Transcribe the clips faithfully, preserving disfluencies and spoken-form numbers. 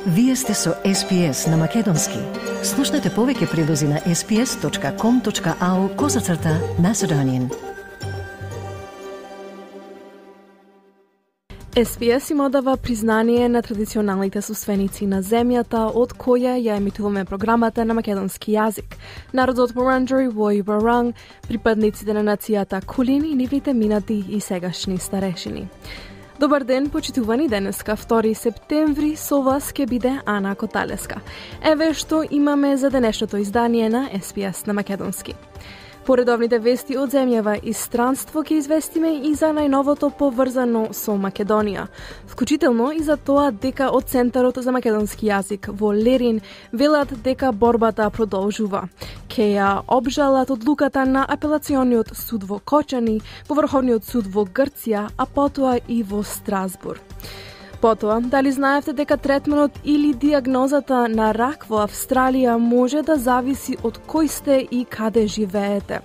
Вие сте со Ес Пи Ес на Македонски. Слушнете повеќе прилози на ес пи ес точка ком точка ау козацрта Macedonian. Ес Пи Ес им одава признание на традиционалните собственици на земјата од која ја емитуваме програмата на македонски јазик. Народот Вуранџери во Баранг, припадниците на нацијата Кулин и нивните минати и сегашни старешини. Добар ден, почитувани, денеска втори септември, со вас ќе биде Ана Коталеска. Еве што имаме за денешното издание на Ес Пи Ес на македонски. Поредовните вести од земјава и странство ќе известиме и за најновото поврзано со Македонија, вклучително и за тоа дека од Центарот за македонски јазик во Лерин велат дека борбата продолжува. Ке ја обжалат одлуката на апелациониот суд во Кочани, во Врховниот суд во Грција, а потоа и во Страсбург. Потоа, дали знаевте дека третманот или диагнозата на рак во Австралија може да зависи од кој сте и каде живеете?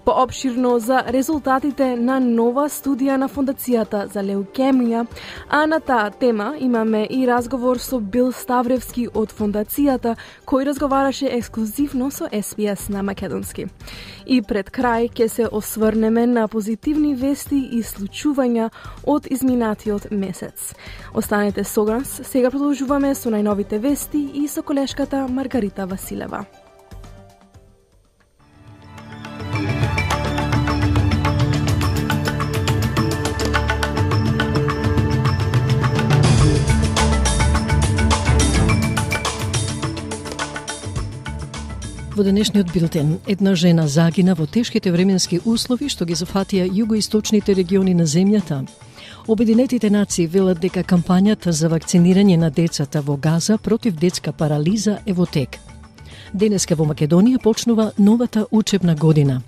Поопширно за резултатите на нова студија на Фондацијата за леукемија, а на таа тема имаме и разговор со Бил Ставревски од Фондацијата, кој разговараше ексклузивно со Ес Пи Ес на македонски. И пред крај ќе се осврнеме на позитивни вести и случувања од изминатиот месец. Останете со нас, сега продолжуваме со најновите вести и со колешката Маргарита Василева. Во денешниот билтен, една жена загина во тешките временски услови што ги зафатија југоисточните региони на земјата. Обединетите нации велат дека кампањата за вакцинирање на децата во Газа против детска парализа е во тек. Денеска во Македонија почнува новата учебна година.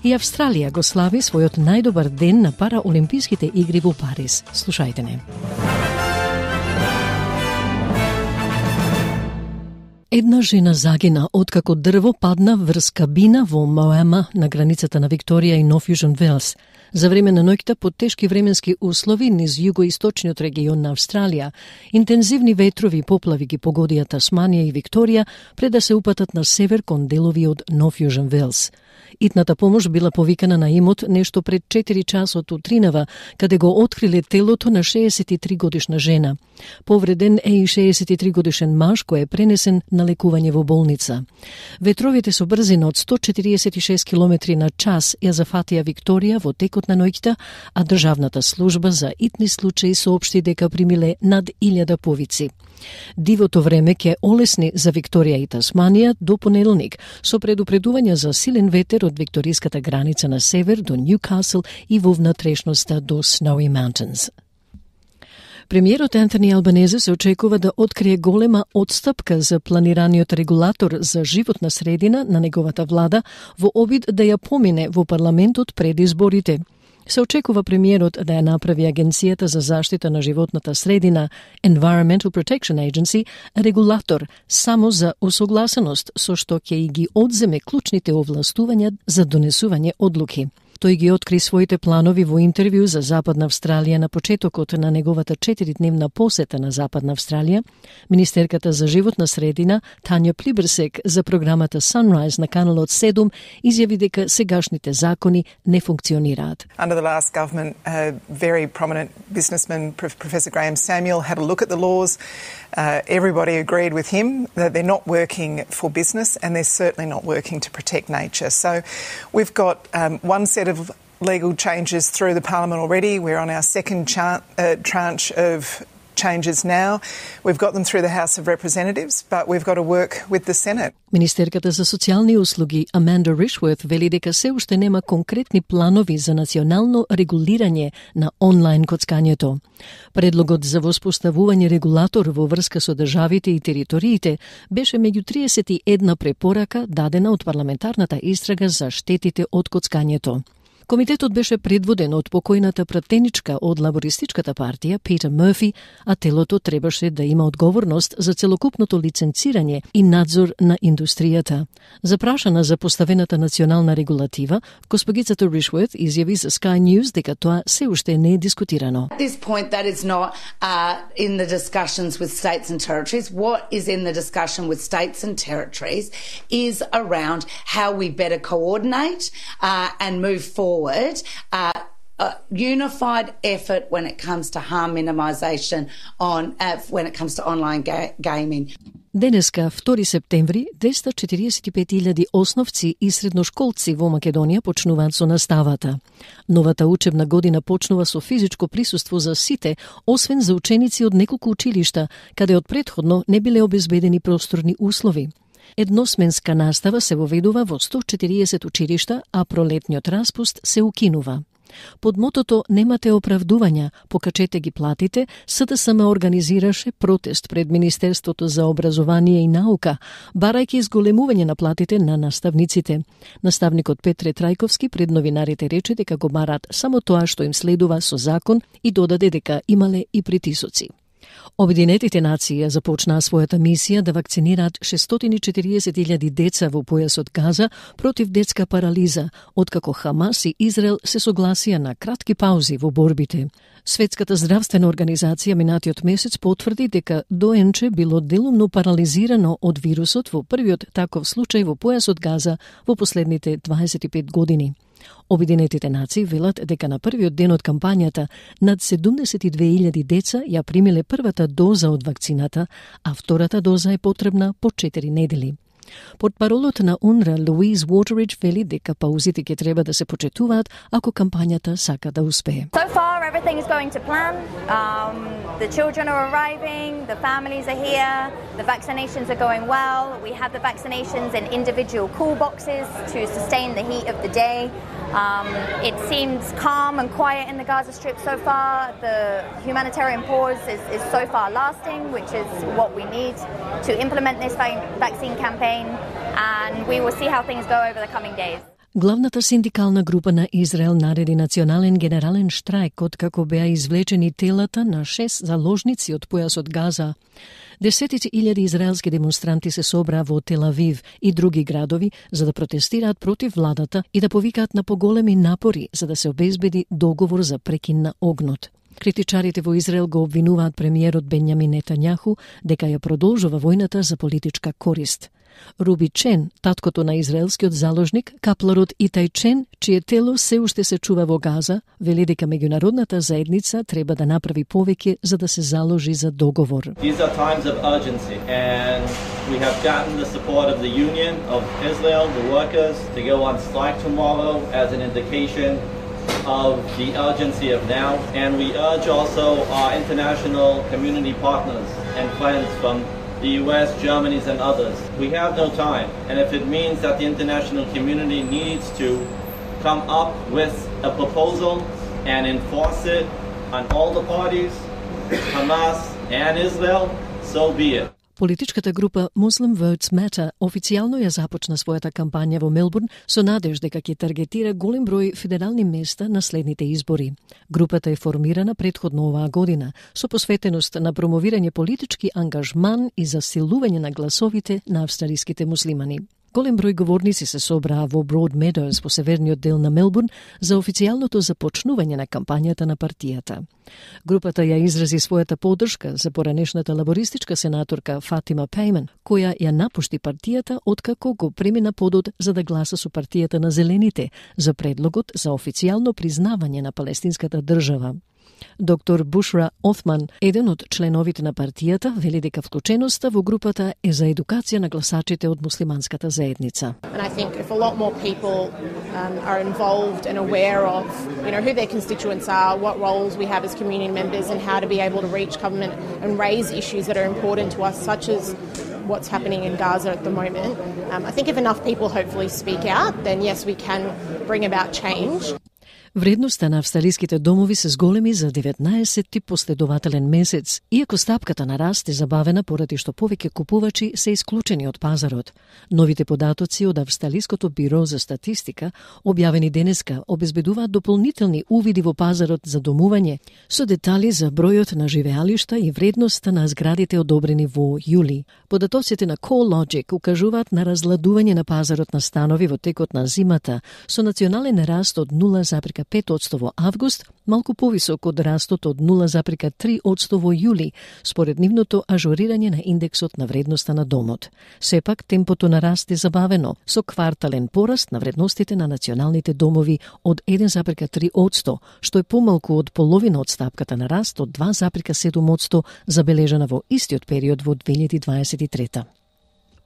И Австралија го слави својот најдобар ден на параолимписките игри во Париз. Слушајте не. Една жена загина откако дрво падна врз кабина во Моема на границата на Викторија и Нов Јужен Велс. За време на ноќта под тешки временски услови низ југоисточниот регион на Австралија, интензивни ветрови и поплави ги погодија Тасманија и Викторија пред да се упатат на север кон делови од Нов Јужен Велс. Итната помош била повикана на имот нешто пред четири часот утринава, каде го откриле телото на шеесет и три годишна жена. Повреден е и шеесет и три годишен маж кој е пренесен на лекување во болница. Ветровите со брзина од сто четириесет и шест километри на час ја зафатија Викторија во текот на ноќта, а државната служба за итни случаи соопшти дека примиле над илјада повици. Дивото време ќе олесни за Викторија и Тасманија до понеделник, со предупредување за силен ветер од викториската граница на север до Ньюкасл и во внатрешноста до Snowy Mountains. Премиерот Антони Албанезе се очекува да открие голема одстапка за планираниот регулатор за животна средина на неговата влада во обид да ја помине во парламентот пред изборите. Се очекува премиерот да ја направи Агенцијата за заштита на животната средина, Environmental Protection Agency, регулатор само за усогласеност, со што ќе и ги одземе клучните овластувања за донесување одлуки. Тој ги откри своите планови во интервју за Западна Австралија на почетокот на неговата четиридневна посета на Западна Австралија. Министерката за животна средина Тања Плиберсек за програмата Sunrise на каналот седум изјави дека сегашните закони не функционираат. Under the last government, a very prominent businessman, Professor Graham Samuel, had a look at the laws. Uh, everybody agreed with him that they're not working for business and they're certainly not working to protect nature. So we've got um, one set of legal changes through the Parliament already. We're on our second cha- uh, tranche of changes now. We've got them through the House of Representatives, but we've got to work with the Senate. Министерката за социјални услуги Аманда Ришворт вели дека се уште нема конкретни планови за национално регулирање на онлайн коцкањето. Предлогот за воспоставување регулатор во врска со државите и териториите беше меѓу триесет и една препорака дадена од парламентарната истрага за штетите од коцкањето. Комитетот беше предводен од покојната пратеничка од лабористичката партија Питер Мерфи, а телото требаше да има одговорност за целокупното лиценцирање и надзор на индустријата. Запрашана за поставената национална регулатива, госпогицата Ришворт изјави за Sky News дека тоа се уште не е дискутирано. At this point that is not uh, in the discussions with states and territories. What is in the discussion with states and territories is around how we better coordinate uh, and move forward Forward, uh, a unified effort when it comes to harm minimisation on uh, when it comes to online ga- gaming. Денеска, втори септември, двеста четириесет и пет илјади основци и средношколци во Македонија почнуваат со наставата. Новата учебна година почнува со физичко присуство за сите, освен за ученици од неколку училишта, каде од претходно не биле обезбедени просторни услови. Едносменска настава се воведува во сто четириесет училишта, а пролетниот распуст се укинува. Под мотото "Немате оправдувања, покачете ги платите", СДСМ организираше протест пред Министерството за образование и наука, барајќи изголемување на платите на наставниците. Наставникот Петре Трајковски пред новинарите рече дека го барат само тоа што им следува со закон и додаде дека имале и притисоци. Обединетите нации ја започнаа својата мисија да вакцинираат шестстотини и четириесет илјади деца во појасот Газа против детска парализа, откако Хамас и Израел се согласија на кратки паузи во борбите. Светската здравствена организација минатиот месец потврди дека доенче било делумно парализирано од вирусот во првиот таков случај во појасот Газа во последните дваесет и пет години. Обединетите нации велат дека на првиот ден од кампањата над седумдесет и две илјади деца ја примиле првата доза од вакцината, а втората доза е потребна по четири недели. Портпаролот на УНРА Луиз Уотеридж вели дека паузите ќе треба да се почетуваат ако кампањата сака да успее. So far everything is going to plan. Um, the children are arriving, the families are here, the vaccinations are going well. We have the vaccinations in individual cool boxes to sustain the heat of the day. Um, it seems calm and quiet in the Gaza Strip so far. The humanitarian pause is, is so far lasting, which is what we need to implement this vaccine campaign, and we will see how things go over the coming days. Главната синдикална група на Израел нареди национален генерален штрајк откако беа извлечени телата на шест заложници од појасот Газа. Десетици илјади израелски демонстранти се собраа во Тел Авив и други градови за да протестираат против владата и да повикаат на поголеми напори за да се обезбеди договор за прекин на огнот. Критичарите во Израел го обвинуваат премиерот Бенјамин Нетањаху дека ја продолжува војната за политичка корист. Руби Чен, таткото на израелскиот заложник, капларот Итај Чен, чие тело се уште се чува во Газа, вели дека меѓународната заедница треба да направи повеќе за да се заложи за договор. These are times of urgency and we have gotten the support of the Union of Israel, the workers, to go on strike tomorrow as an indication of the urgency of now, and we urge also our international community partners and friends from the U S, Germany and others. We have no time, and if it means that the international community needs to come up with a proposal and enforce it on all the parties, Hamas and Israel, so be it. Политичката група Muslim Votes Matter официјално ја започна својата кампања во Мелбурн со надеж дека ќе таргетира голем број федерални места на следните избори. Групата е формирана претходно оваа година со посветеност на промовирање политички ангажман и засилување на гласовите на австралиските муслимани. Голем број говорници се собраа во Broad Meadows во северниот дел на Мелбурн за официјалното започнување на кампањата на партијата. Групата ја изрази својата поддршка за поранешната лабористичка сенаторка Фатима Пейман, која ја напушти партијата откако го премина подот за да гласа со партијата на Зелените за предлогот за официјално признавање на палестинската држава. Доктор Бушра Оthman, еден од членовите на партијата, вели дека вклученоста во групата е за едукација на гласачите од муслиманската заедница. And I think if a lot more people um, are involved and aware of, you know, who their constituents are, what roles we have as community members and how to be able to reach government and raise issues that are important to us, such as what's happening in Gaza at the moment. Um, I think if enough people hopefully speak out, then yes, we can bring about change. Вредноста на австралиските домови се зголеми за деветнаесетти последователен месец, иако стапката на раст е забавена поради што повеќе купувачи се исклучени од пазарот. Новите податоци од Австралиското биро за статистика, објавени денеска, обезбедуваат дополнителни увиди во пазарот за домување, со детали за бројот на живеалишта и вредноста на зградите одобрени во јули. Податоците на CoreLogic укажуваат на разладување на пазарот на станови во текот на зимата, со национален раст од нула запирка пет одсто во август, малку повисок од растот од нула запирка три одсто во јули, според нивното ажурирање на индексот на вредноста на домот. Сепак, темпото на раст е забавено, со квартален пораст на вредностите на националните домови од еден запирка три одсто, што е помалку од половина од стапката на раст од два запирка седум одсто забележана во истиот период во две илјади дваесет и трета.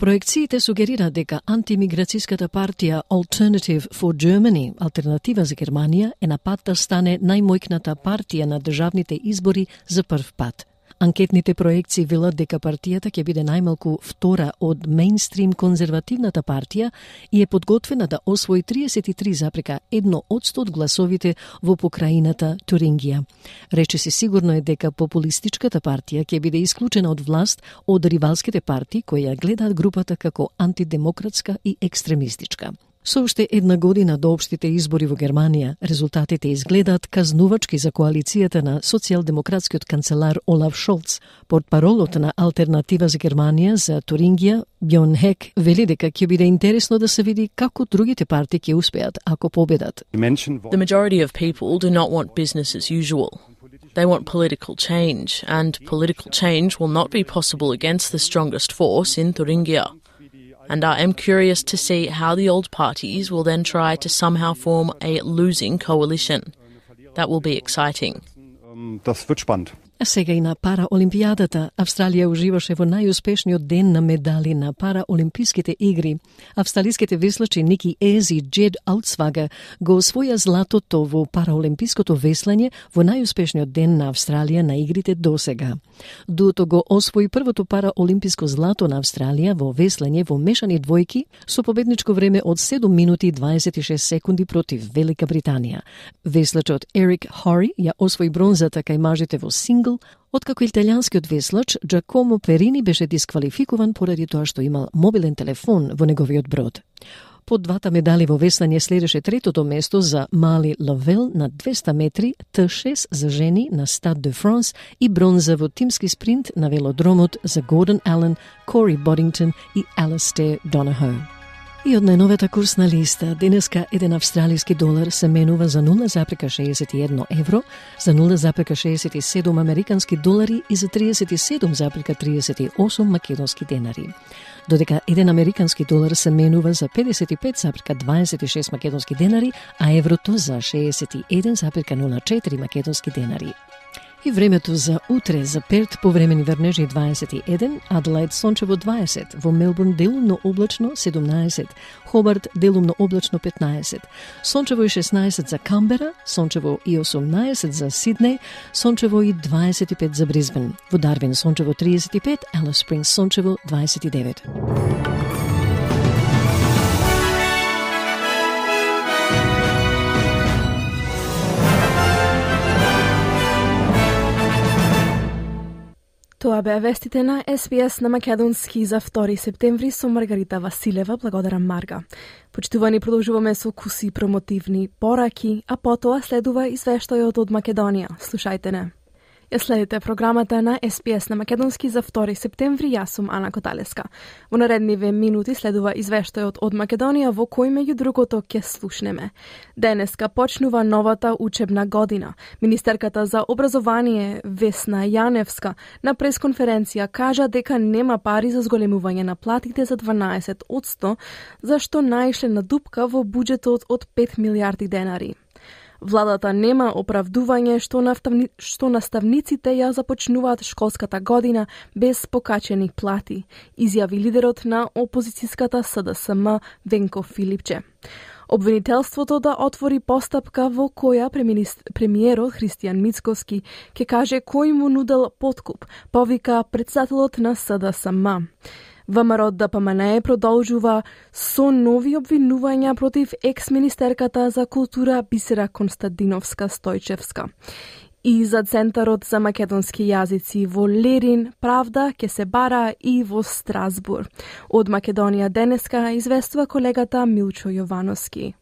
Проекциите сугерираат дека антимиграцијската партија Alternative for Germany, алтернатива за Германија, е на пат да стане најмојкната партија на државните избори за прв пат. Анкетните проекции велат дека партијата ќе биде најмалку втора од мејнстрим конзервативната партија и е подготвена да освои триесет и три запирка едно одсто од гласовите во покраината Турингија. Речиси сигурно е дека популистичката партија ќе биде исклучена од власт од ривалските партии кои ја гледаат групата како антидемократска и екстремистичка. Со уште една година до општите избори во Германија, резултатите изгледаат казнувачки за коалицијата на социјалдемократскиот канцелар Олаф Шолц. Портпаролот на Алтернатива за Германија за Турингија, Бјорн Хек, вели дека ќе биде интересно да се види како другите партии ќе успеат ако победат. The majority of people do not want business as usual. They want political change, and political change will not be possible against the strongest force in Thuringia. And I am curious to see how the old parties will then try to somehow form a losing coalition. That will be exciting. Das wird spannend. А сега и на Параолимпијадата, Австралија уживаше во најуспешниот ден на медали на Параолимписките игри. Австралиските веслачи Ники Ез и Джед Аутсвага го освоја златото во Параолимпиското веслање во најуспешниот ден на Австралија на игрите досега. Дуото го освои првото Параолимписко злато на Австралија во веслање во мешани двојки со победничко време од седум минути и дваесет и шест секунди против Велика Британија. Веслачот Ерик Хори ја освои бронзата кај мажите во сингл, откако италијанскиот веслач Джакомо Перини беше дисквалификуван поради тоа што имал мобилен телефон во неговиот брод. По двата медали во веслање следеше третото место за Мали Лавел на двеста метри, Т шест за жени на Стад де Франс и бронза во тимски спринт на велодромот за Гордон Ален, Кори Бодингтон и Алистер Донахо. И од најновата курсна листа, денеска еден австралиски долар се менува за нула запирка шеесет и едно евро, за нула запирка шеесет и седум американски долари и за триесет и седум запирка триесет и осум македонски денари. Додека еден американски долар се менува за педесет и пет запирка дваесет и шест македонски денари, а еврото за шеесет и еден запирка нула четири македонски денари. И времето за утре за Перт повремени врнежи дваесет и еден, Аделаид сончево дваесет, во Мелбурн делумно облачно седумнаесет, Хобарт делумно облачно петнаесет, сончево и шеснаесет за Камбера, сончево и осумнаесет за Сиднеј, сончево и дваесет и пет за Брисбен, во Дарвин сончево триесет и пет, Алис Спрингс сончево дваесет и девет. Тоа беа вестите на Ес Би Ес на македонски за втори септември со Маргарита Василева. Благодарам, Марга. Почитувани, продолжуваме со куси промотивни пораки, а потоа следува извештајот од Македонија. Слушајте не. Ја следите програмата на Ес Би Ес на македонски за втори септември. Јас сум Ана Коталеска. Во наредниве минути следува извештајот од Македонија во кој меѓу другото ќе слушнеме. Денеска почнува новата учебна година. Министерката за образование Весна Јаневска на пресконференција кажа дека нема пари за зголемување на платите за дванаесет одсто, зашто наишле на дупка во буџетот од пет милијарди денари. Владата нема оправдување што, наставни... што наставниците ја започнуваат школската година без покачени плати, изјави лидерот на опозицијската С Д С М Венко Филипче. Обвинителството да отвори постапка во која премиерот Христијан Мицкоски ќе каже кој му нудел подкуп, повика председателот на С Д С М. ВМРО Д П М Н продолжува со нови обвинувања против екс-министерката за култура Бисера Константиновска-Стојчевска. И за Центарот за македонски јазици во Лерин правда ќе се бара и во Страсбур. Од Македонија денеска известува колегата Милчо Јовановски.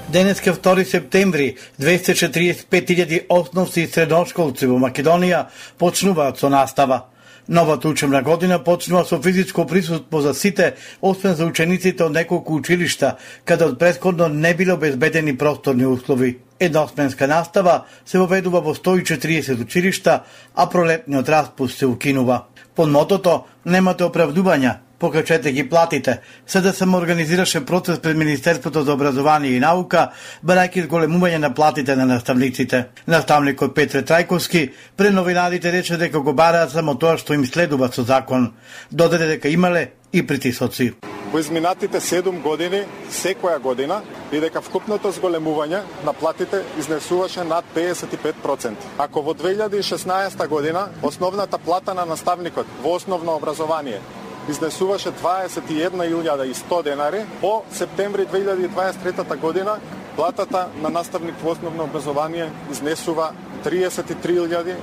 Денеска втори септември, двеста четиридесет и пет илјади основци и средношколци во Македонија почнуваат со настава. Новата учебна година почнува со физичко присуство за сите, освен за учениците од неколку училишта, каде од претходно не биле обезбедени просторни услови. Едносменска настава се воведува во сто и четиридесет училишта, а пролетниот распуст се укинува. Под мотото "Немате оправдувања, покачете ги платите", С Д С М организираше процес пред Министерството за образование и наука, барајќи зголемување на платите на наставниците. Наставникот Петре Трајковски пред новинарите рече дека го бараат само тоа што им следува со закон. Додаде дека имале и притисоци. Во изминатите седум години, секоја година, и дека вкупното зголемување на платите изнесуваше над педесет и пет проценти. Ако во две илјади и шеснаесета година основната плата на наставникот во основно образование изнесуваше дваесет и една илјада и сто денари, по септември две илјади и дваесет и трета година платата на наставник во основно образование изнесува триесет и три илјади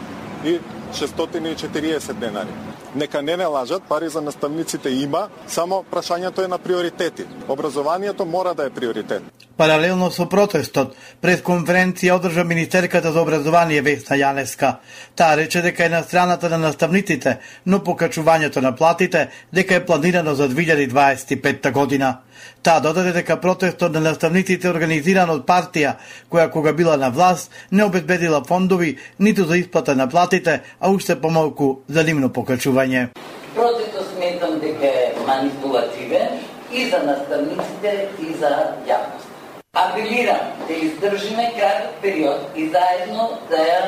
и шестстотини и четириесет денари. Нека не не лажат, пари за наставниците има, само прашањето е на приоритети. Образованието мора да е приоритет. Паралелно со протестот, пред конференција одржа министерката за образование Весна Јаневска. Таа рече дека е на страната на наставниците, но покачувањето на платите дека е планирано за две илјади дваесет и петта година. Таа додаде дека протестот на наставниците е организиран од партија која кога била на власт не обезбедила фондови ниту за исплата на платите, а уште помалку за нивно покачување. Протестот сметам дека е манипулативен и за наставниците и за јавност. Апелирам да издржиме краток период и заедно да ја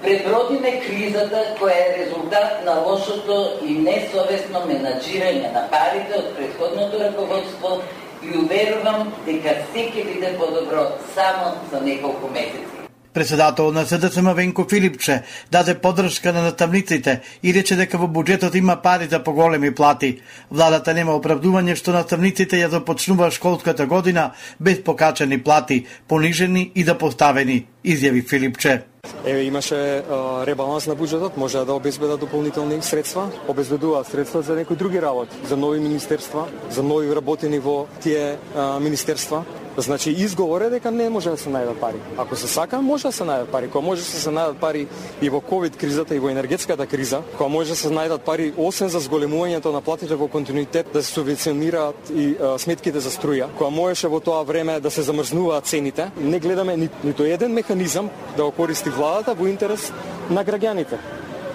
пребродиме кризата која е резултат на лошото и несовесно менаџирање на парите од претходното раководство и уверувам дека се ќе биде подобро само за неколку месеци. Председател на С Д С М Венко Филипче даде поддршка на наставниците и рече дека во буџетот има пари за поголеми плати. Владата нема оправдување што наставниците ја започнува школската година без покачани плати, понижени и да поставени, изјави Филипче. Еве имаше а, ребаланс на буџетот, може да обезбедат дополнителни средства, обезбедуваат средства за некои други работи, за нови министерства, за нови работени во тие а, министерства. Значи изговор е дека не може да се најдат пари. Ако се сака, може да се најдат пари. Кога може да се најдат пари и во ковид кризата и во енергетската криза, кога може да се најдат пари освен за зголемувањето на платите во континуитет да се субвенционираат и а, сметките за струја, кога можеше во тоа време да се замрзнуваат цените, не гледаме ни, нито еден механизам да го користи владата во интерес на граѓаните.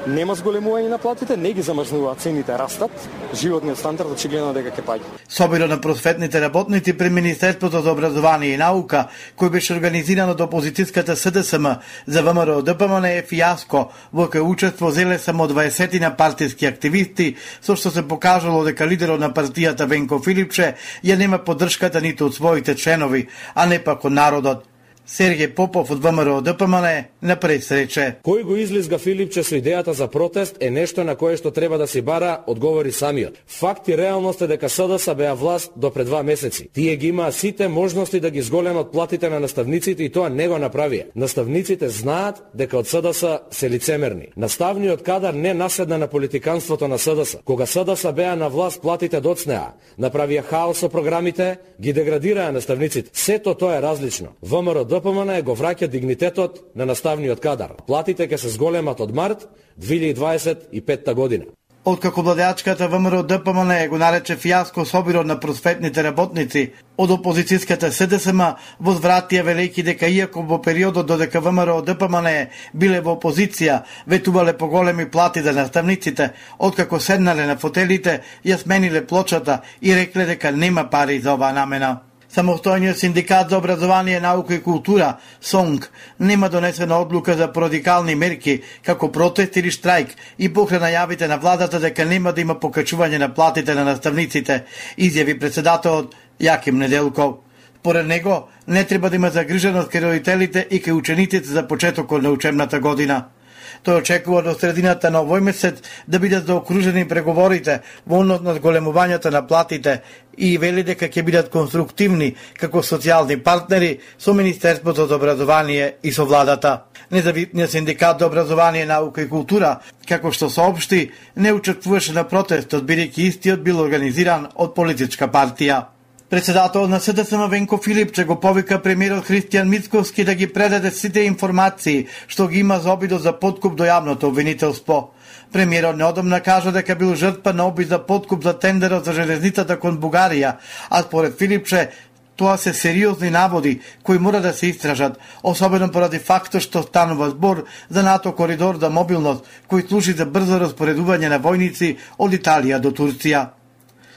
Нема зголемување на платите, не ги замрзнуваат цените, растат, животниот стандард очигледно дека ќе паѓа. Собирот на просветните работници при Министерството за образование и наука, кој беше организиран од опозицијската С Д С М за В М Р Д П М Н е фијаско, во кој учество зеле само дваесет на партиски активисти, со што се покажало дека лидерот на партијата Венко Филипче ја нема поддршката ниту од своите членови, а не пак од народот. Сергеј Попов од В М Р Д П М Н на пресрече. Кој го излизга Филипче со идејата за протест е нешто на кое што треба да се бара одговори самиот. Факт и реалност е дека С Д С беа власт до пред два месеци. Тие ги имаа сите можности да ги зголемат платите на наставниците и тоа не го направија. Наставниците знаат дека од С Д С се лицемерни. Наставниот кадар не наседна на политиканството на С Д С. Кога С Д С беа на власт, платите доцнеа, направија хаос со програмите, ги деградираа наставниците. Сето тоа е различно. В М Р Д П М Н го враќа дигнитетот на наставниот кадар. Платите ќе се зголемат од март две илјади дваесет и петта година. Откако владеачката В М Р Д П М Н го нарече фијаско собирот на просветните работници, од опозицијската С Д С М возвратија велејќи дека иако во периодот додека В М Р Д П М Н биле во опозиција, ветувале поголеми плати за наставниците, откако седнале на фотелите, ја смениле плочата и рекле дека нема пари за оваа намена. Самостојниот синдикат за образование, наука и култура, СОНК, нема донесена одлука за радикални мерки, како протест или штрајк, и покрај најавите на владата дека нема да има покачување на платите на наставниците, изјави председателот Јаким Неделков. Поред него, не треба да има загриженост кај родителите и кај учениците за почетокот на учебната година. Тој очекува до средината на овој месец да бидат заокружени преговорите во однос на зголемувањето на платите и вели дека ќе бидат конструктивни како социјални партнери со Министерството за образование и со владата. Независниот синдикат за образование, наука и култура, како што соопшти, не учествуваше на протестот, бидејќи истиот бил организиран од политичка партија. Председателот на СДСМ Венко Филипче го повика премиерот Христијан Мицковски да ги предаде сите информации што ги има за обидот за подкуп до јавното обвинителство. Премиерот неодамна кажа дека бил жртва на обид за подкуп за тендерот за железницата кон Бугарија, а според Филипче тоа се сериозни наводи кои мора да се истражат, особено поради фактот што станува збор за НАТО коридор за мобилност кој служи за брзо распоредување на војници од Италија до Турција.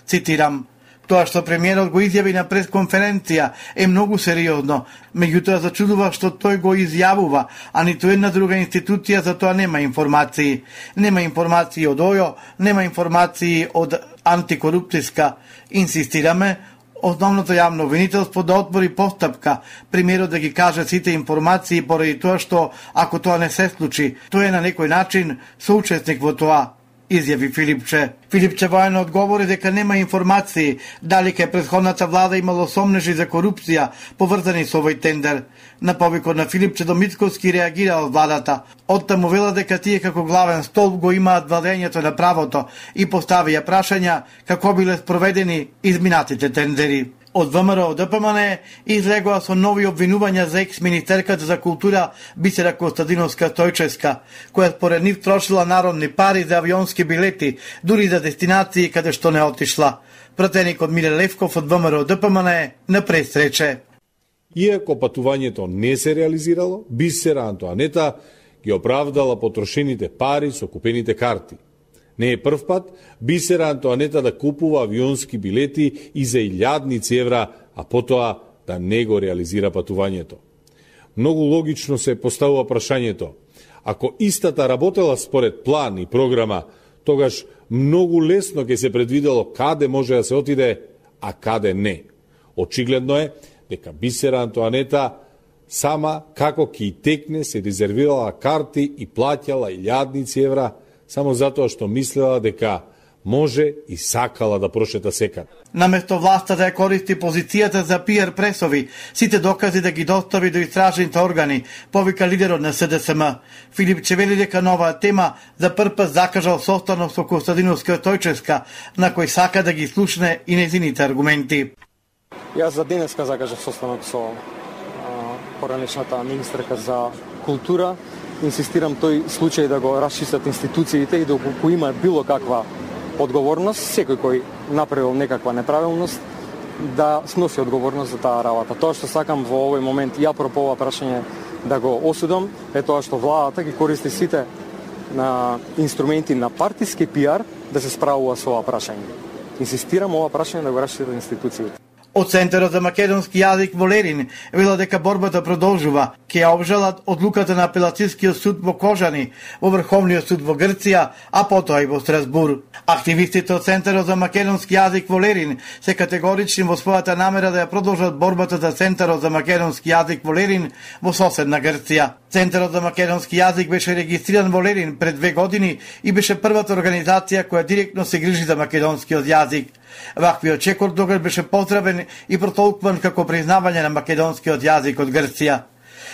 Цитирам: Тоа што премиерот го изјави на пресконференција е многу сериозно, меѓутоа зачудува што тој го изјавува, а ниту една друга институција за тоа нема информации. Нема информации од ОЈО, нема информации од антикорупцијска. Инсистираме основното јавно обвинителство да отвори постапка, премиерот да ги каже сите информации поради тоа што, ако тоа не се случи, тој е на некој начин соучесник во тоа, изјави Филипче. Филипче воено одговори дека нема информации дали кај претходната влада имало сомнежи за корупција поврзани со овој тендер. На повикот на Филипче до Мицковски реагира од владата. Оттаму вела дека тие како главен столб го имаат владењето на правото и поставија прашања како биле спроведени изминатите тендери. Од ВМРО ДПМН излегоа со нови обвинувања за екс-министерката за култура Бисера Костадиновска Стојчевска, која според нив трошила народни пари за авионски билети, дури за дестинации каде што не отишла. Пратеникот Миле Левков од ВМРО ДПМН на пресрече. Иако патувањето не се реализирало, Бисера Антоанета ги оправдала потрошените пари со купените карти. Не е прв пат Бисера Антоанета да купува авионски билети и за илјадници евра, а потоа да не го реализира патувањето. Многу логично се поставува прашањето: ако истата работела според план и програма, тогаш многу лесно ќе се предвидело каде може да се отиде, а каде не. Очигледно е дека Бисера Антоанета сама како ќе текне се резервирала карти и плаќала илјадници евра, само затоа што мислела дека може и сакала да прошета секаде. Наместо власта да ја користи позицијата за пиар пресови, сите докази да ги достави до истражните органи, повика лидерот на СДСМ. Филипче вели дека на оваа тема за прв пат закажал состанок со Костадиновска Стојчевска, на кој сака да ги слушне и незините аргументи. Јас за денеска закажав состанок со поранешната министерка за култура. Инсистирам тој случај да го расчистат институциите и доколку има било каква одговорност, секој кој направил некаква неправилност, да сноси одговорност за таа работа. Тоа што сакам во овој момент ја пропо ова прашање да го осудам е тоа што владата ги користи сите на инструменти на партиски пиар да се справува со ова прашање. Инсистирам ова прашање да го расчистат институциите. Од Центарот за македонски јазик во Лерин вела дека борбата продолжува. Ке ја обжалат одлуката на апелацијскиот суд во Кожани, во Врховниот суд во Грција, а потоа и во Страсбур. Активистите од Центарот за македонски јазик во Лерин се категорични во својата намера да ја продолжат борбата за Центарот за македонски јазик во Лерин во соседна Грција. Центарот за македонски јазик беше регистриран во Лерин пред две години и беше првата организација која директно се грижи за македонскиот јазик. Ваквиот чекор тогаш беше поздравен и протолкван како признавање на македонскиот јазик од Грција.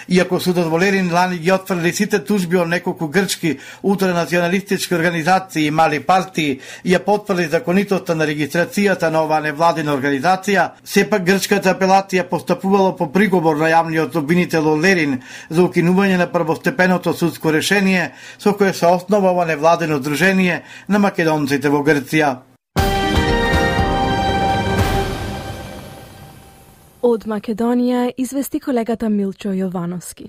Иако судот во Лерин лани ги отфрли сите тужби од неколку грчки ултранационалистички организации и мали партии и ја потврди законитоста на регистрацијата на оваа невладина организација, сепак грчката апелација постапувала по приговор на јавниот обвинител од Лерин за укинување на првостепеното судско решение со кое се основа ова невладено здружение на македонците во Грција. Од Македонија извести колегата Милчо Јовановски.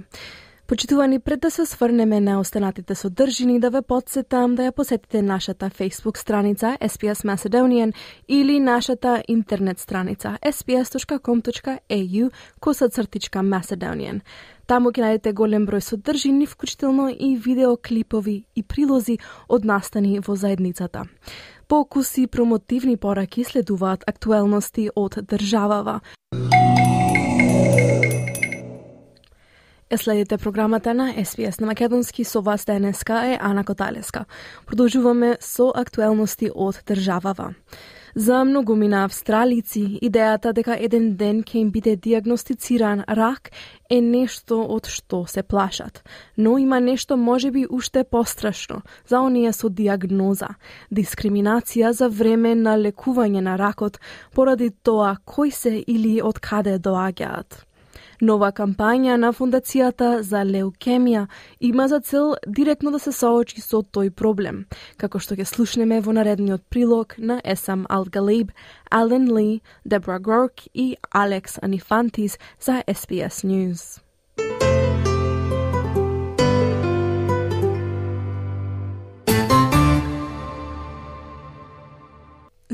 Почитувани, пред да се сврнеме на останатите содржини, да ве подсетам да ја посетите нашата Facebook страница S B S Macedonian или нашата интернет страница s b s dot com dot a u косацртичка Macedonian. Таму ќе најдете голем број содржини, вклучително и видеоклипови и прилози од настани во заедницата. Покуси, промотивни пораки следуваат актуелности од државава. Е следите програмата на Ес Би Ес на македонски, со вас денеска е Ана Коталеска. Продолжуваме со актуелности од државава. За многумина австралици, идејата дека еден ден ќе им биде диагностициран рак е нешто од што се плашат. Но има нешто можеби уште пострашно за оние со диагноза. Дискриминација за време на лекување на ракот поради тоа кој се или од каде доаѓаат. Нова кампања на Фондацијата за леукемија има за цел директно да се соочи со тој проблем, како што ќе слушнеме во наредниот прилог на Есам Ал-Галиб, Ален Ли, Дебра Горк и Алекс Анифантис за Ес Би Ес News.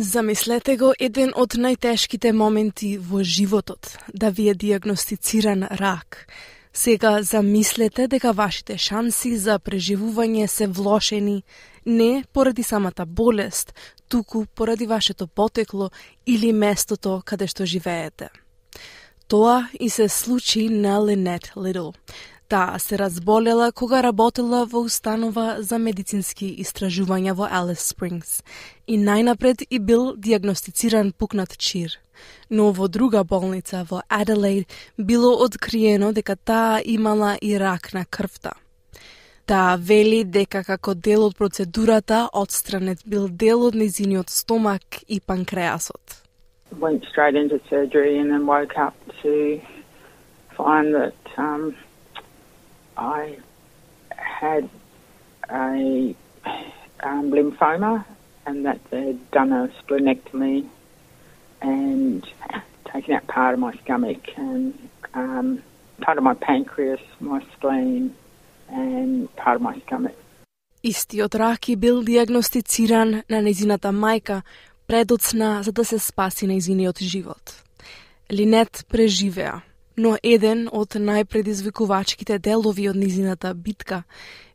Замислете го еден од најтешките моменти во животот, да ви е диагностициран рак. Сега замислете дека вашите шанси за преживување се влошени не поради самата болест, туку поради вашето потекло или местото каде што живеете. Тоа и се случи на Линет Литл. Таа се разболела кога работела во установа за медицински истражувања во Алис Спрингс и најнапред и бил диагностициран пукнат чир. Но во друга болница во Аделаид било откриено дека таа имала и рак на крвта. Таа вели дека како дел од процедурата отстранет бил дел од нејзиниот стомак и панкреасот. Went straight into surgery and then woke up to find that um, I had a um, lymphoma and that they'd done a splenectomy and taken out part of my stomach and um, part of my pancreas, my spleen and part of my stomach. Истиот рак бил диагностициран на нејзината мајка предоцна за да се спаси нејзиниот живот. Линет преживеа, но еден од најпредизвикувачките делови од нејзината битка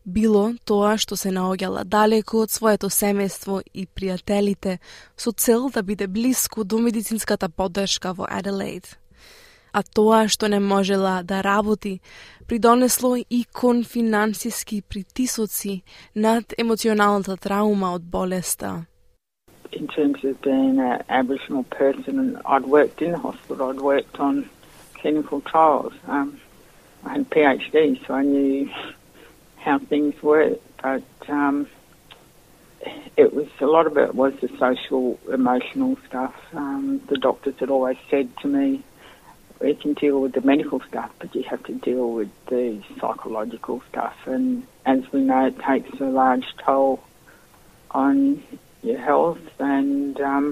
било тоа што се наоѓала далеку од своето семејство и пријателите со цел да биде блиску до медицинската поддршка во Аделаид. А тоа што не можела да работи придонесло и кон финансиски притисоци над емоционалната траума од болеста. In terms of being an Aboriginal person, and I'd worked in the hospital, I'd worked on clinical trials. Um, I had a PhD, so I knew how things work, but um, it was a lot of it was the social, emotional stuff. Um, the doctors had always said to me, "We can deal with the medical stuff, but you have to deal with the psychological stuff." And as we know, it takes a large toll on your health, and um,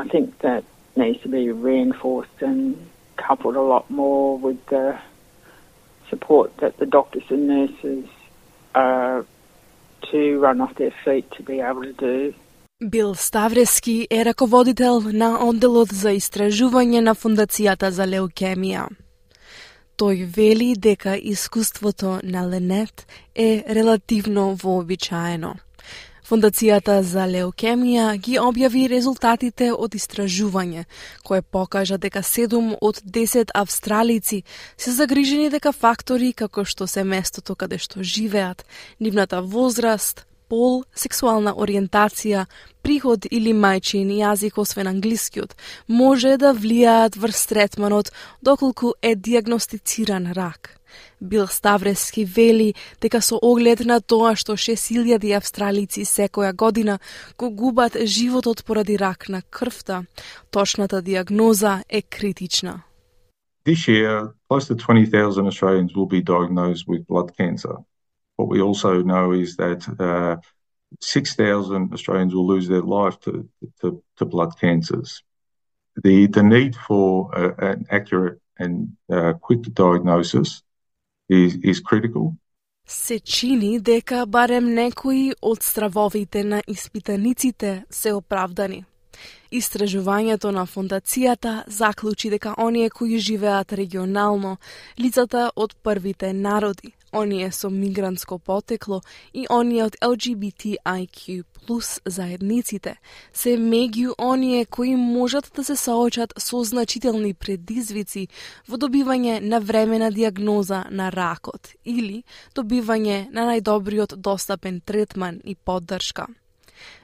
I think that needs to be reinforced and coupled a lot more with the support that the doctors and nurses are to run off their feet to be able to do. Бил Ставрески е раководител на одделот за истражување на Фондацијата за леукемија. Тој вели дека искуството на Линет е релативно вообичаено. Фондацијата за леукемија ги објави резултатите од истражување, кое покажа дека седум од десет австралици се загрижени дека фактори како што се местото каде што живеат, нивната возраст, пол, сексуална ориентација, приход или мајчин јазик освен англискиот, може да влијаат врз третманот доколку е диагностициран рак. Бил Ставрески вели дека со оглед на тоа што шест илјади австралици секоја година го губат животот поради рак на крвта, точната диагноза е критична. This year, close to twenty thousand Australians will be diagnosed with blood cancer. What we also know is that uh, six thousand Australians will lose their life to, to, to blood cancers. The, the need for uh, an accurate and uh, quick diagnosis is, is critical. Се чини дека барем некои од стравовите на испитаниците се оправдани. Истражувањето на Фондацијата заклучи дека оние кои живеат регионално, лицата од првите народи, оние со мигрантско потекло и оние од Ел Джи Би Ти Ај Кју плюс заедниците се меѓу оние кои можат да се соочат со значителни предизвици во добивање на времена диагноза на ракот или добивање на најдобриот достапен третман и поддршка.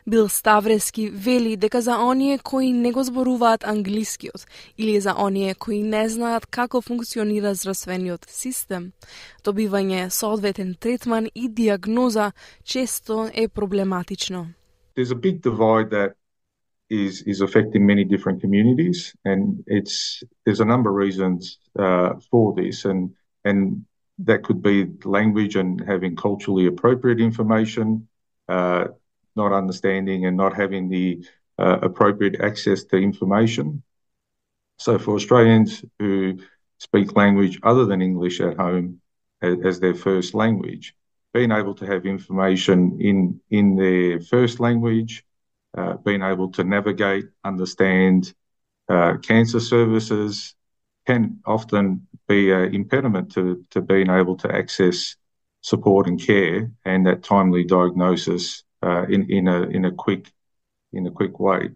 Бил Ставрески вели дека за оние кои не го зборуваат англискиот или за оние кои не знаат како функционира здравствениот систем, добивање соодветен третман и диагноза често е проблематично. There's a big divide that is is affecting many different communities, and it's there's a number of reasons uh, for this, and and that could be language and having culturally appropriate information, uh, not understanding and not having the uh, appropriate access to information. So for Australians who speak language other than English at home as, as their first language, being able to have information in, in their first language, uh, being able to navigate, understand uh, cancer services can often be an impediment to, to being able to access support and care and that timely diagnosis uh, in, in a in a quick in a quick way.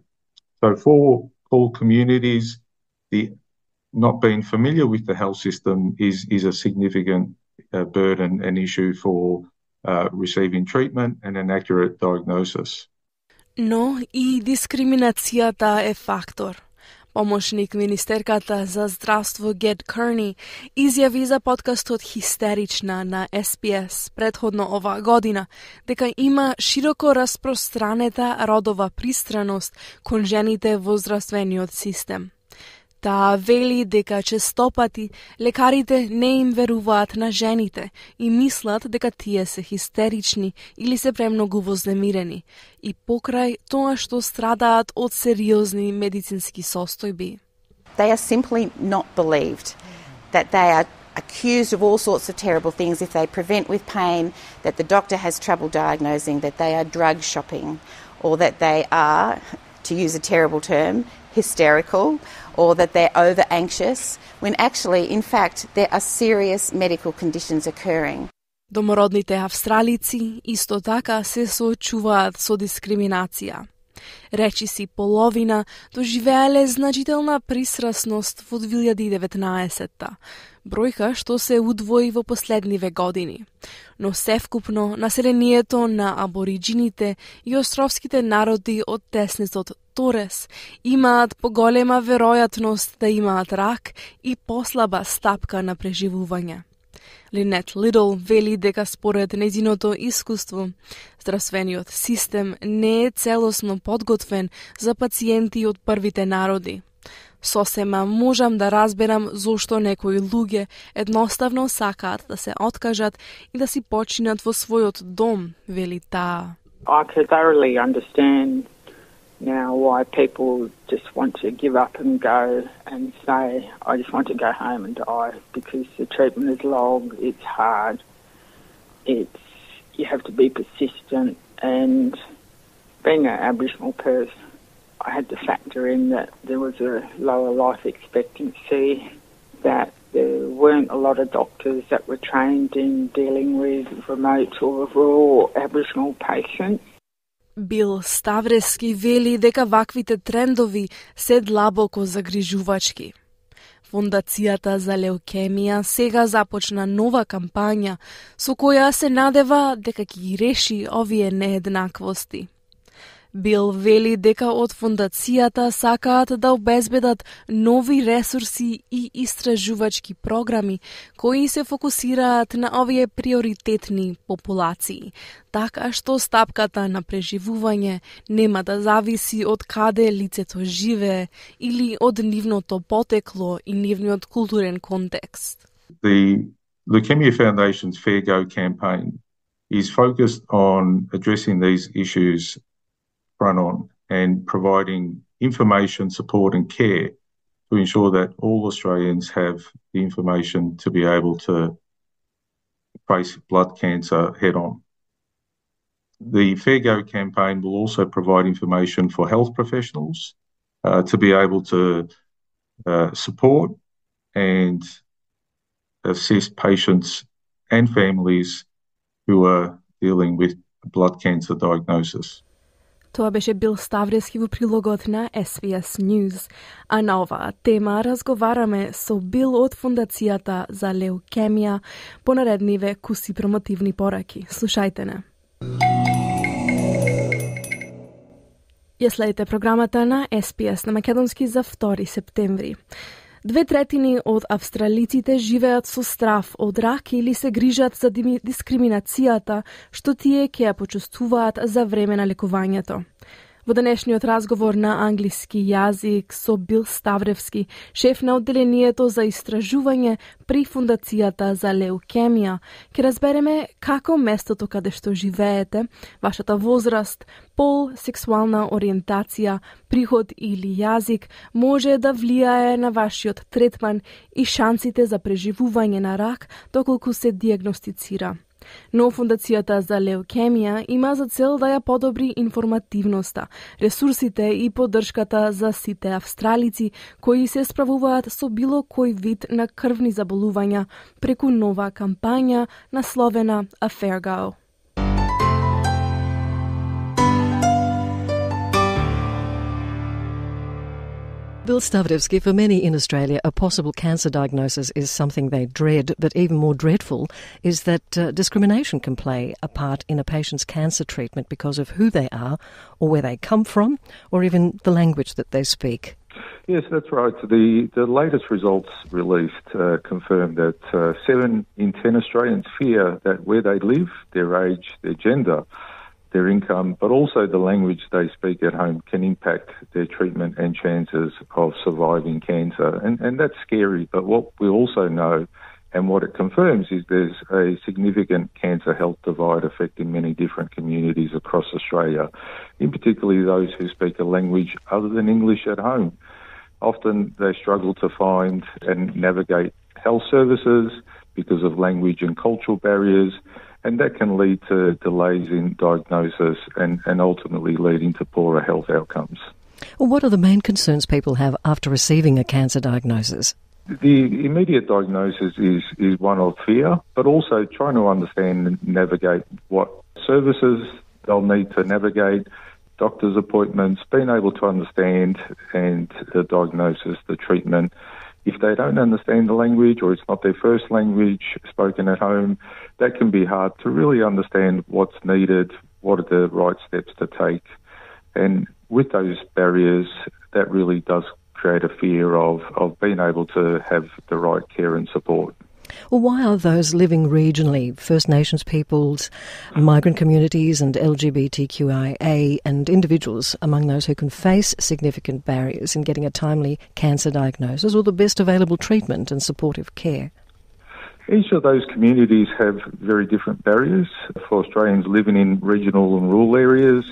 So for all communities, the not being familiar with the health system is is a significant uh, burden and issue for uh, receiving treatment and an accurate diagnosis. Но и дискриминацијата е фактор. Помошник министерката за здравство Гет Керни изјави за подкастот Хистерична на Ес Би Ес предходно оваа година дека има широко распространета родова пристраност кон жените во здравствениот систем. Таа вели дека честопати лекарите не им веруваат на жените и мислат дека тие се хистерични или се премногу вознемирени и покрај тоа што страдаат од сериозни медицински состојби. They are simply not believed, that they are accused of all sorts of terrible things if they prevent with pain, that the doctor has trouble diagnosing, that they are drug shopping, or that they are, to use a terrible term, hysterical, or that they're over anxious, when actually, in fact, there are serious medical conditions occurring. Домородните австралици исто така се соочуваат со дискриминација. Речиси половина доживеале значителна пристрасност во две илјади и деветнаесетта, бројка што се удвои во последниве години. Но севкупно населението на абориджините и островските народи од теснецот Торес имаат поголема веројатност да имаат рак и послаба стапка на преживување. Линет Лидл вели дека според нејзиното искуство, здравствениот систем не е целосно подготвен за пациенти од првите народи. Сосема можам да разберам зошто некои луѓе едноставно сакаат да се откажат и да си починат во својот дом, вели таа. I could thoroughly understand now why people just want to give up and go and say, I just want to go home and die, because the treatment is long, it's hard, it's you have to be persistent, and being an Aboriginal person, I had to factor in that there was a lower life expectancy, that there weren't a lot of doctors that were trained in dealing with remote or rural Aboriginal patients. Бил Ставрески вели дека ваквите трендови се длабоко загрижувачки. Фондацијата за леукемија сега започна нова кампања со која се надева дека ќе ги реши овие нееднаквости. Бил вели дека од фондацијата сакаат да обезбедат нови ресурси и истражувачки програми кои се фокусираат на овие приоритетни популации, така што стапката на преживување нема да зависи од каде лицето живее или од нивното потекло и нивниот културен контекст. The Leukemia Foundation's Fair Go campaign is focused on addressing these issues front on and providing information, support and care to ensure that all Australians have the information to be able to face blood cancer head on. The Fair Go campaign will also provide information for health professionals uh, to be able to uh, support and assist patients and families who are dealing with blood cancer diagnosis. Тоа беше Бил Ставрески во прилогот на Ес Би Ес News. А на оваа тема разговараме со Бил од Фондацијата за леукемија по наредниве куси промотивни пораки. Слушајте не. Ја следите програмата на Ес Би Ес на македонски за втори септември. Две третини од австралиците живеат со страф од рак или се грижат за дискриминацијата што тие ќе ја почувствуваат за време на лекувањето. Во денешниот разговор на англиски јазик со Бил Ставревски, шеф на одделението за истражување при Фондацијата за леукемија, ќе разбереме како местото каде што живеете, вашата возраст, пол, сексуална ориентација, приход или јазик може да влијае на вашиот третман и шансите за преживување на рак доколку се диагностицира. Но Фондацијата за леукемија има за цел да ја подобри информативноста, ресурсите и поддршката за сите австралици кои се справуваат со било кој вид на крвни заболувања преку нова кампања насловена A Fair Go. Bill Stavrevski, for many in Australia, a possible cancer diagnosis is something they dread, but even more dreadful is that uh, discrimination can play a part in a patient's cancer treatment because of who they are or where they come from or even the language that they speak. Yes, that's right. The, the latest results released uh, confirm that uh, seven in ten Australians fear that where they live, their age, their gender, their income, but also the language they speak at home can impact their treatment and chances of surviving cancer. And, and that's scary, but what we also know and what it confirms is there's a significant cancer health divide affecting many different communities across Australia, in particularly those who speak a language other than English at home. Often they struggle to find and navigate health services because of language and cultural barriers, and that can lead to delays in diagnosis and, and ultimately leading to poorer health outcomes. Well, what are the main concerns people have after receiving a cancer diagnosis? The immediate diagnosis is, is one of fear, but also trying to understand and navigate what services they'll need to navigate, doctor's appointments, being able to understand and the diagnosis, the treatment. If they don't understand the language or it's not their first language spoken at home, that can be hard to really understand what's needed, what are the right steps to take. And with those barriers, that really does create a fear of, of being able to have the right care and support. Well, why are those living regionally, First Nations peoples, migrant communities and L G B T Q I A and individuals among those who can face significant barriers in getting a timely cancer diagnosis or the best available treatment and supportive care? Each of those communities have very different barriers. For Australians living in regional and rural areas,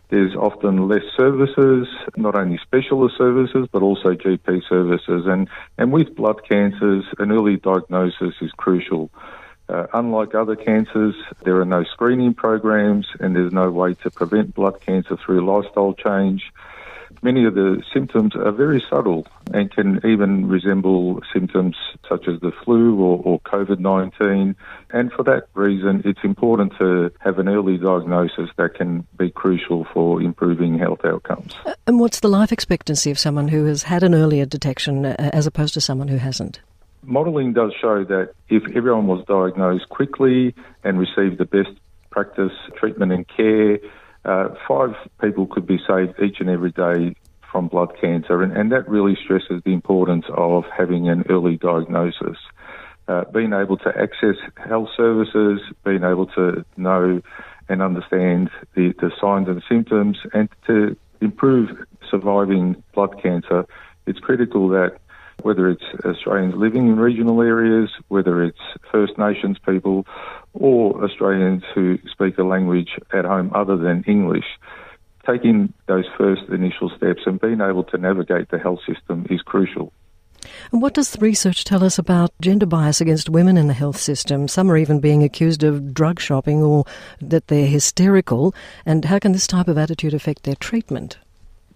there's often less services, not only specialist services, but also G P services. And, and with blood cancers, an early diagnosis is crucial. Uh, unlike other cancers, there are no screening programs and there's no way to prevent blood cancer through lifestyle change. Many of the symptoms are very subtle and can even resemble symptoms such as the flu or, or COVID nineteen. And for that reason, it's important to have an early diagnosis that can be crucial for improving health outcomes. Uh, and what's the life expectancy of someone who has had an earlier detection uh, as opposed to someone who hasn't? Modelling does show that if everyone was diagnosed quickly and received the best practice, treatment and care, Uh, five people could be saved each and every day from blood cancer, and, and that really stresses the importance of having an early diagnosis. Uh, being able to access health services, being able to know and understand the, the signs and symptoms, and to improve surviving blood cancer, it's critical that whether it's Australians living in regional areas, whether it's First Nations people, or Australians who speak a language at home other than English, taking those first initial steps and being able to navigate the health system is crucial. And what does the research tell us about gender bias against women in the health system? Some are even being accused of drug shopping or that they're hysterical. And how can this type of attitude affect their treatment?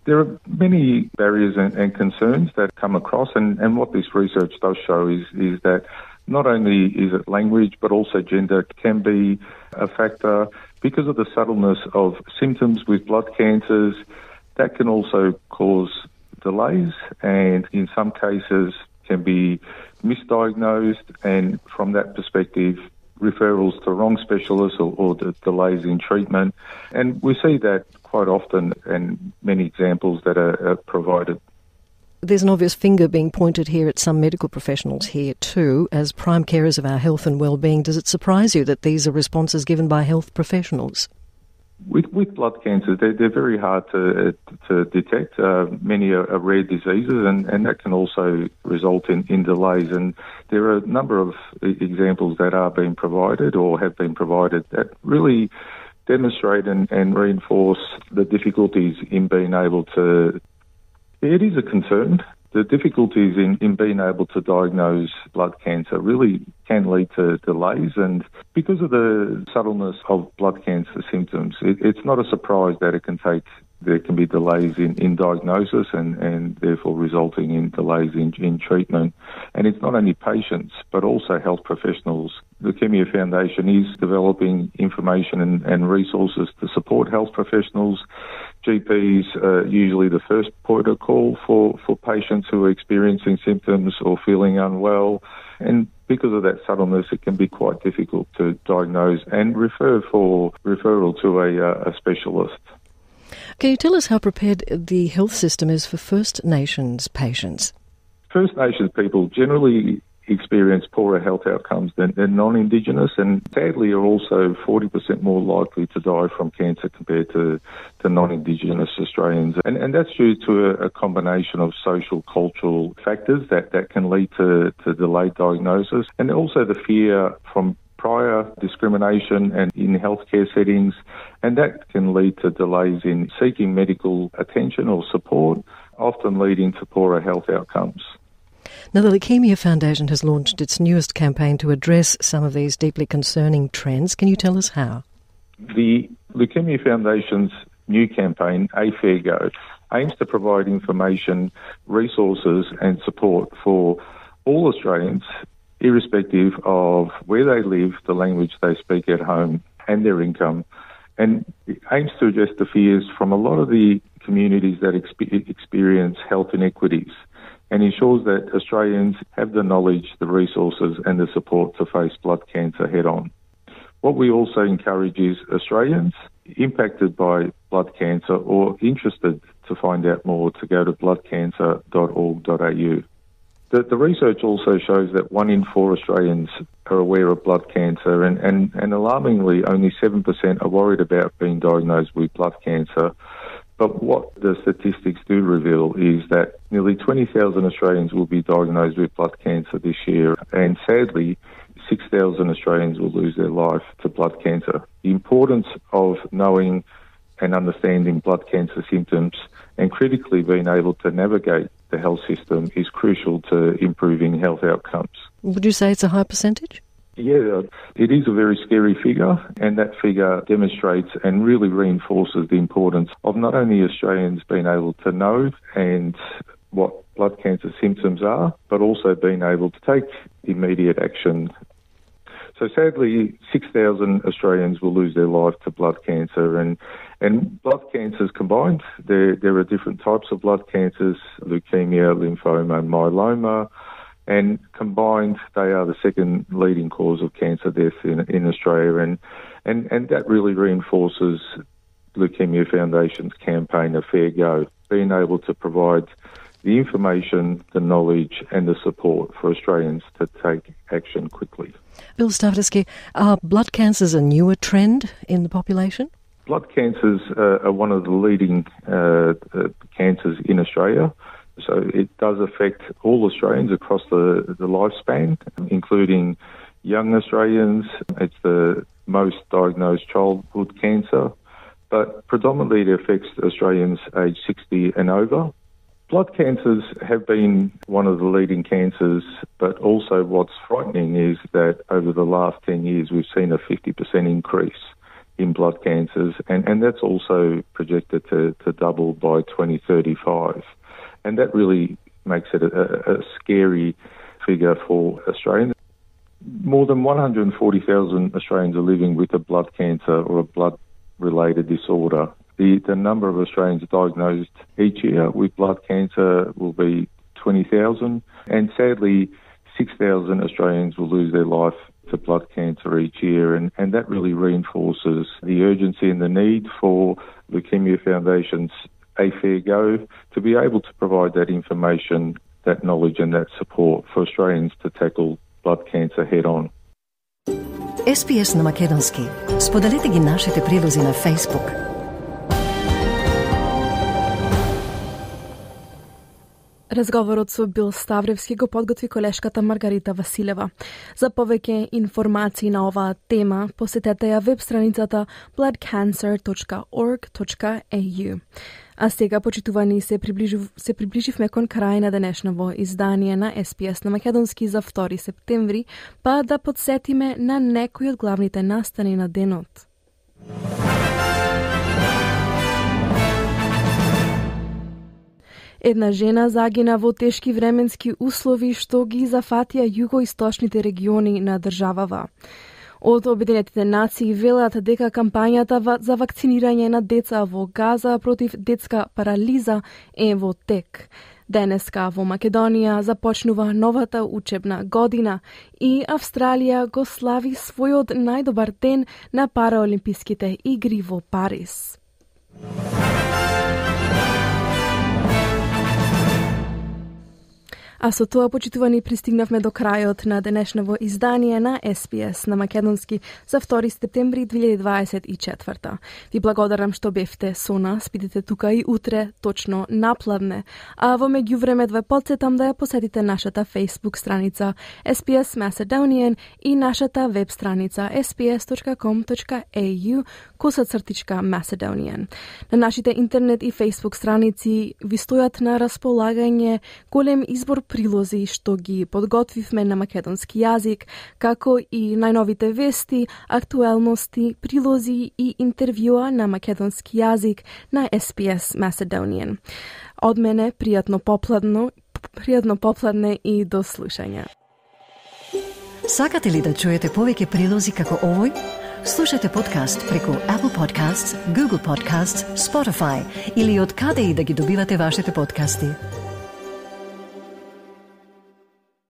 There are many barriers and, and concerns that come across, and, and what this research does show is, is that Not only is it language, but also gender can be a factor. Because of the subtleness of symptoms with blood cancers, that can also cause delays and in some cases can be misdiagnosed, and from that perspective, referrals to wrong specialists or, or the delays in treatment. And we see that quite often and many examples that are, are provided. There's an obvious finger being pointed here at some medical professionals here too. As prime carers of our health and well-being, does it surprise you that these are responses given by health professionals? With, with blood cancers, they're, they're very hard to to detect. Uh, many are, are rare diseases, and, and that can also result in, in delays. And there are a number of examples that are being provided or have been provided that really demonstrate and, and reinforce the difficulties in being able to. It is a concern. The difficulties in, in being able to diagnose blood cancer really can lead to delays, and because of the subtleness of blood cancer symptoms, it, it's not a surprise that it can take, there can be delays in, in diagnosis and, and therefore resulting in delays in, in treatment. And it's not only patients, but also health professionals. The Leukemia Foundation is developing information and, and resources to support health professionals. G Ps are usually the first point of call for, for patients who are experiencing symptoms or feeling unwell. And because of that subtleness, it can be quite difficult to diagnose and refer for referral to a, a specialist. Can you tell us how prepared the health system is for First Nations patients? First Nations people generally experience poorer health outcomes than, than non-Indigenous, and sadly are also forty percent more likely to die from cancer compared to, to non-Indigenous Australians. And, and that's due to a, a combination of social, cultural factors that, that can lead to, to delayed diagnosis, and also the fear from prior discrimination and in healthcare settings, and that can lead to delays in seeking medical attention or support, often leading to poorer health outcomes. Now, the Leukemia Foundation has launched its newest campaign to address some of these deeply concerning trends. Can you tell us how? The Leukemia Foundation's new campaign, A Fair Go, aims to provide information, resources and support for all Australians, irrespective of where they live, the language they speak at home and their income, and it aims to address the fears from a lot of the communities that exp- experience health inequities, and ensures that Australians have the knowledge, the resources and the support to face blood cancer head-on. What we also encourage is Australians impacted by blood cancer or interested to find out more to go to blood cancer dot org dot a u. The, the research also shows that one in four Australians are aware of blood cancer, and, and, and alarmingly only seven percent are worried about being diagnosed with blood cancer. But what the statistics do reveal is that nearly twenty thousand Australians will be diagnosed with blood cancer this year, and sadly, six thousand Australians will lose their life to blood cancer. The importance of knowing and understanding blood cancer symptoms and critically being able to navigate the health system is crucial to improving health outcomes. Would you say it's a high percentage? Yeah, it is a very scary figure, and that figure demonstrates and really reinforces the importance of not only Australians being able to know and what blood cancer symptoms are, but also being able to take immediate action. So sadly, six thousand Australians will lose their life to blood cancer, and, and blood cancers combined, there, there are different types of blood cancers, leukemia, lymphoma, and myeloma. And combined, they are the second leading cause of cancer death in, in Australia. And, and, and that really reinforces Leukemia Foundation's campaign, A Fair Go, being able to provide the information, the knowledge and the support for Australians to take action quickly. Bill Stavridski, are blood cancers a newer trend in the population? Blood cancers uh, are one of the leading uh, uh, cancers in Australia. So it does affect all Australians across the, the lifespan, including young Australians. It's the most diagnosed childhood cancer, but predominantly it affects Australians aged sixty and over. Blood cancers have been one of the leading cancers, but also what's frightening is that over the last ten years we've seen a fifty percent increase in blood cancers, and, and that's also projected to, to double by twenty thirty-five. And that really makes it a, a scary figure for Australians. more than one hundred forty thousand Australians are living with a blood cancer or a blood-related disorder. The, the number of Australians diagnosed each year with blood cancer will be twenty thousand, and sadly, six thousand Australians will lose their life to blood cancer each year, and, and that really reinforces the urgency and the need for Leukemia Foundation's A Fair Go to be able to provide that information, that knowledge and that support for Australians to tackle blood cancer head on. Ес Пи Ес на македонски. Споделете ги нашите прилози на Facebook. Разговорот со Бил Ставревски го подготви колешката Маргарита Василева. За повеќе информации на оваа тема, посетете ја веб страницата blood cancer dot org dot a u. А сега, почитувани, се, приближив, се приближивме кон крај на денешново издание на Ес Пи Ес на македонски за втори септември, па да подсетиме на некои од главните настани на денот. Една жена загина во тешки временски услови што ги зафатија југоисточните региони на државава. Од Обединетите нации велат дека кампањата за вакцинирање на деца во Газа против детска парализа е во тек. Денеска во Македонија започнува новата учебна година и Австралија го слави својот најдобар ден на Параолимписките игри во Париз. А со тоа, почитувани, пристигнавме до крајот на денешново издание на Ес Пи Ес на македонски за втори септември две илјади дваесет и четврта. Ви благодарам што бевте со нас, бидете тука и утре точно напладне. А во меѓувреме ве потсетам да ја посетите нашата Facebook страница Ес Пи Ес Macedonian и нашата веб страница ес пи ес dot com dot a u косацртичка Macedonian. На нашите интернет и Facebook страници ви стојат на располагање голем избор прилози што ги подготвивме на македонски јазик, како и најновите вести, актуелности, прилози и интервјуа на македонски јазик на Ес Пи Ес Macedonian. Од мене, пријатно попладно, пријатно попладне и до слушање. Сакате ли да чуете повеќе прилози како овој? Слушате подкаст преку Apple Podcasts, Google Podcasts, Spotify или од каде и да ги добивате вашите подкасти.